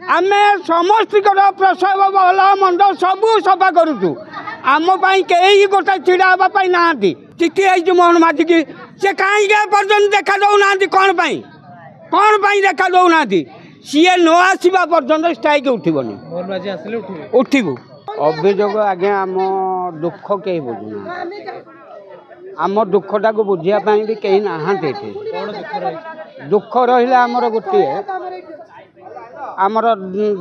ଆମେ ସମସ୍ତଙ୍କର ପ୍ରସବ ଭଲ ମନ୍ଦ ସବୁ ସଫା କରୁଛୁ। ଆମ ପାଇଁ କେହି ଗୋଟେ ଛିଡ଼ା ହେବା ପାଇଁ ନାହାନ୍ତି। ଚିଠି ହେଇଛି ମୋହନ ମାଝିକି, ସେ କାହିଁକି ଏପର୍ଯ୍ୟନ୍ତ ଦେଖା ଦେଉନାହାନ୍ତି? କ'ଣ ପାଇଁ, କ'ଣ ପାଇଁ ଦେଖା ଦେଉନାହାନ୍ତି? ସିଏ ନ ଆସିବା ପର୍ଯ୍ୟନ୍ତ ଷ୍ଟ୍ରାଇକ୍ ଉଠିବନି। ଉଠିବୁ। ଅଭିଯୋଗ ଆଜ୍ଞା, ଆମ ଦୁଃଖ କେହି ବୁଝୁନାହାନ୍ତି। ଆମ ଦୁଃଖଟାକୁ ବୁଝିବା ପାଇଁ ବି କେହି ନାହାନ୍ତି ଏଠି। ଦୁଃଖ ରହିଲା ଆମର ଗୋଟିଏ, ଆମର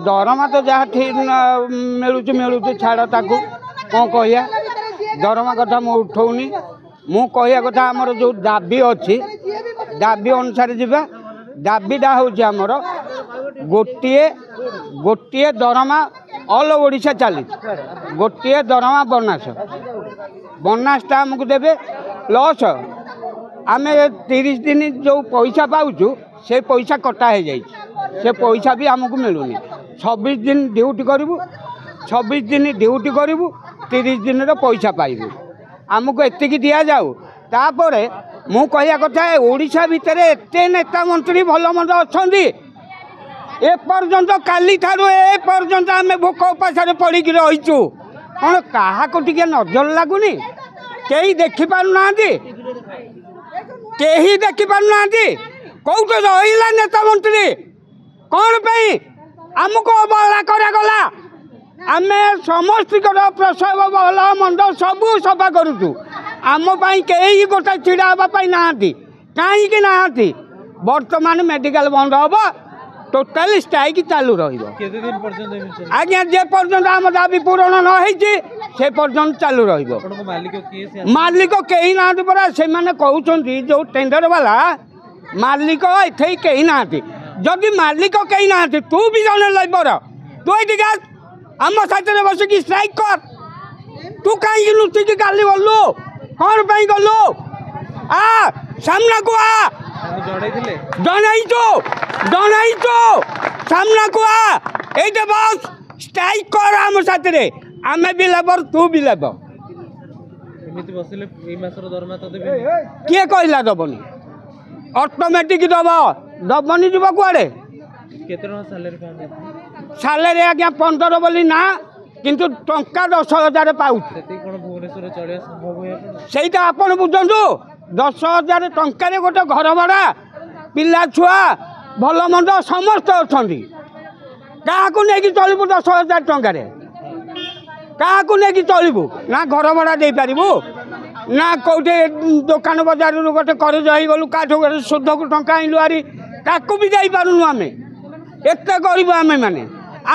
ଦରମା ତ ଯାହା ଠିକ୍ ମିଳୁଛି ମିଳୁଛି, ଛାଡ଼ ତାକୁ କ'ଣ କହିବା, ଦରମା କଥା ମୁଁ ଉଠଉନି। ମୁଁ କହିବା କଥା, ଆମର ଯେଉଁ ଦାବି ଅଛି, ଦାବି ଅନୁସାରେ ଯିବା। ଦାବିଟା ହେଉଛି ଆମର ଗୋଟିଏ ଗୋଟିଏ ଦରମା, ଅଲ୍ ଓଡ଼ିଶା ଚାଲିଛି ଗୋଟିଏ ଦରମା। ବୋନସ୍, ବୋନସ୍ଟା ଆମକୁ ଦେବେ। ପ୍ଲସ୍ ଆମେ 30 ଦିନ ଯେଉଁ ପଇସା ପାଉଛୁ, ସେ ପଇସା କଟା ହେଇଯାଇଛି, ସେ ପଇସା ବି ଆମକୁ ମିଳୁନି। 26 ଦିନ ଡ୍ୟୁଟି କରିବୁ, 26 ଦିନ ଡ୍ୟୁଟି କରିବୁ, 30 ଦିନର ପଇସା ପାଇବୁ। ଆମକୁ ଏତିକି ଦିଆଯାଉ। ତାପରେ ମୁଁ କହିବା କଥା, ଓଡ଼ିଶା ଭିତରେ ଏତେ ନେତା ମନ୍ତ୍ରୀ ଭଲ ମନ୍ଦ ଅଛନ୍ତି, ଏପର୍ଯ୍ୟନ୍ତ କାଲିଠାରୁ ଏ ପର୍ଯ୍ୟନ୍ତ ଆମେ ଭୋକ ଉପାସରେ ପଡ଼ିକି ରହିଛୁ। କ'ଣ କାହାକୁ ଟିକେ ନଜର ଲାଗୁନି? କେହି ଦେଖିପାରୁନାହାନ୍ତି? କେହି ଦେଖିପାରୁନାହାନ୍ତି? କେଉଁଠି ରହିଲା ନେତା ମନ୍ତ୍ରୀ? କ'ଣ ପାଇଁ ଆମକୁ ଅବହେଳା କରାଗଲା? ଆମେ ସମସ୍ତଙ୍କର ପ୍ରସବ ଭଲ ମନ୍ଦ ସବୁ ସଫା କରୁଛୁ। ଆମ ପାଇଁ କେହି ଗୋଟେ ଛିଡ଼ା ହେବା ପାଇଁ ନାହାନ୍ତି। କାହିଁକି ନାହାନ୍ତି? ବର୍ତ୍ତମାନ ମେଡ଼ିକାଲ ବନ୍ଦ ହେବ, ଟୋଟାଲି ଷ୍ଟ୍ରାଇକ୍ ଚାଲୁ ରହିବ ଆଜ୍ଞା। ଯେ ପର୍ଯ୍ୟନ୍ତ ଆମ ଦାବି ପୂରଣ ନ ହେଇଛି, ସେ ପର୍ଯ୍ୟନ୍ତ ଚାଲୁ ରହିବ। ମାଲିକ କେହି ନାହାନ୍ତି ପରା। ସେମାନେ କହୁଛନ୍ତି, ଯେଉଁ ଟେଣ୍ଡର ବାଲା ମାଲିକ, ଏଠି କେହି ନାହାନ୍ତି। ଯଦି ମାଲିକ କେହି ନାହାନ୍ତି, ତୁ ବି ଜଣେ ଲେବର, ତୁ ଏଠିକି ଆମ ସାଥିରେ ବସିକି ଷ୍ଟ୍ରାଇକ୍ କର। ତୁ କାହିଁକି ଲୁଚିକି କାଲି ଗଲୁ? କ'ଣ ପାଇଁ ଗଲୁ? ଆ ସାମ୍ନାକୁ ଆ। ଜଣାଇଛୁ, ଜଣାଇଛୁ, ସାମ୍ନାକୁ ଆ, ଏଇଟା ବସ୍, ଷ୍ଟ୍ରାଇକ୍ କର ଆମ ସାଥିରେ। ଆମେ ବି ଲେବର, ତୁ ବି ଲେବର। କିଏ କହିଲା ଦବନି? ଅଟୋମେଟିକ୍ ଦବ। ଦବନି ଯିବ କୁଆଡ଼େ? ସାଲାରୀ ଆଜ୍ଞା 15 ବୋଲି ନା, କିନ୍ତୁ ଟଙ୍କା 10,000 ପାଉଛୁ। ସେଇଟା ଆପଣ ବୁଝନ୍ତୁ। 10,000 ଟଙ୍କାରେ ଗୋଟେ ଘର ଭଡ଼ା, ପିଲା ଛୁଆ ଭଲ ମନ୍ଦ ସମସ୍ତେ ଅଛନ୍ତି, କାହାକୁ ନେଇକି ଚଳିବୁ? 10,000 ଟଙ୍କାରେ କାହାକୁ ନେଇକି ଚଳିବୁ? ନା ଘର ଭଡ଼ା ଦେଇପାରିବୁ, ନା କେଉଁଠି ଦୋକାନ ବଜାରରୁ ଗୋଟେ କରଜ ହେଇଗଲୁ, କାଠୁ ଗୋଟେ ସୁଧକୁ ଟଙ୍କା ଆଣିଲୁ ଆରି, ତାକୁ ବି ଦେଇପାରୁନୁ। ଆମେ ଏତେ ଗରିବ ଆମେମାନେ।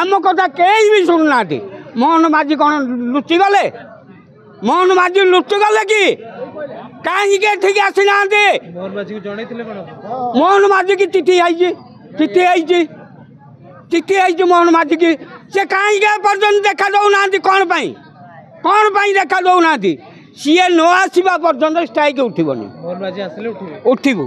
ଆମ କଥା କେହି ବି ଶୁଣୁନାହାନ୍ତି। ମୋହନ ମାଝି କ'ଣ ଲୁଚିଗଲେ? ମୋହନ ମାଝି ଲୁଚିଗଲେ କି? କାହିଁକି ଏଠିକି ଆସିନାହାନ୍ତି? ମୋହନ ମାଝିକି ଚିଠି ହେଇଛି, ଚିଠି ହେଇଛି, ଚିଠି ହେଇଛି ମୋହନ ମାଝିକି। ସେ କାହିଁକି ଏପର୍ଯ୍ୟନ୍ତ ଦେଖା ଦେଉନାହାନ୍ତି? କ'ଣ ପାଇଁ, କ'ଣ ପାଇଁ ଦେଖା ଦେଉନାହାନ୍ତି? ସିଏ ନ ଆସିବା ପର୍ଯ୍ୟନ୍ତ ଷ୍ଟ୍ରାଇକ୍ ଉଠିବନି। ଉଠିବୁ।